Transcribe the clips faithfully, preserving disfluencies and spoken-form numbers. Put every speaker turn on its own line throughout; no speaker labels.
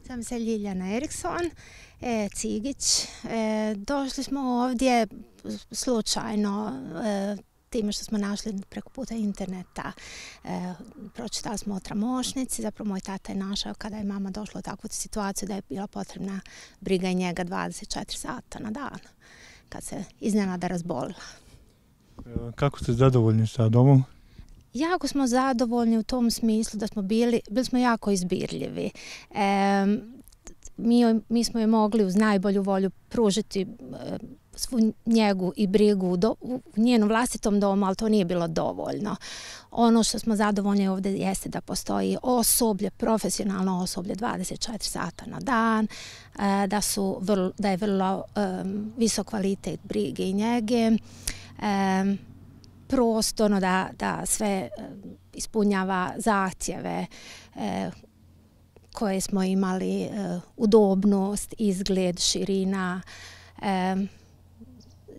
Sam se Ljiljana Eriksson, e, Cigić. E, došli smo ovdje slučajno, e, time što smo našli preko puta interneta. E, pročitali smo o tramošnici, zapravo moj tata je našao kada je mama došla u takvu situaciju da je bila potrebna briga i njega dvadeset četiri sata na dan, kad se iznenada razbolila.
Kako ste zadovoljni sa domom?
Jako smo zadovoljni u tom smislu da smo bili, bili smo jako izbirljivi. E, mi, mi smo je mogli uz najbolju volju pružiti e, svu njegu i brigu do, u njenom vlastitom domu, ali to nije bilo dovoljno. Ono što smo zadovoljni ovdje jeste da postoji osoblje, profesionalno osoblje dvadeset četiri sata na dan, e, da, su vrlo, da je vrlo e, visok kvalitet brige i njege, e, prostorno da, da sve ispunjava zahtjeve e, koje smo imali, e, udobnost, izgled, širina. E,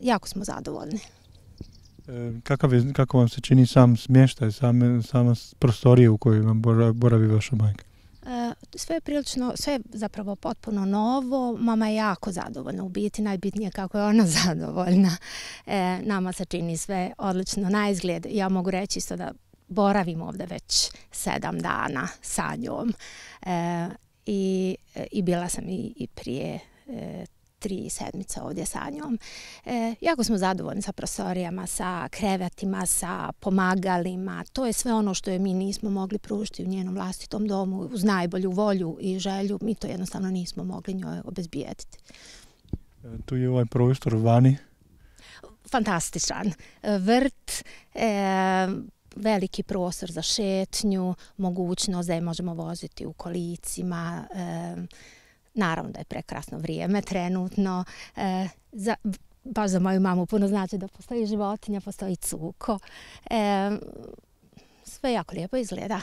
jako smo zadovoljni.
E, kakav je, kako vam se čini sam smještaj, sam, sama prostorija u kojoj vam boravi vaša majka?
E, sve je prilično, sve je zapravo potpuno novo. Mama je jako zadovoljna, u biti najbitnije kako je ona zadovoljna. E, nama se čini sve odlično na izgled. Ja mogu reći isto da boravim ovdje već sedam dana sa njom. E, i, i bila sam i, i prije e, tri sedmice ovdje sa njom. E, jako smo zadovoljni sa prostorijama, sa krevetima, sa pomagalima. To je sve ono što je mi nismo mogli pružiti u njenom vlastitom domu uz najbolju volju i želju. Mi to jednostavno nismo mogli njoj obezbijediti.
E, tu je ovaj prostor vani.
Fantastičan. Vrt, e, veliki prostor za šetnju, mogućnost da je možemo voziti u kolicima, e, naravno da je prekrasno vrijeme trenutno. E, za, baš za moju mamu puno znači da postoji životinja, postoji cuko. E, sve jako lijepo izgleda.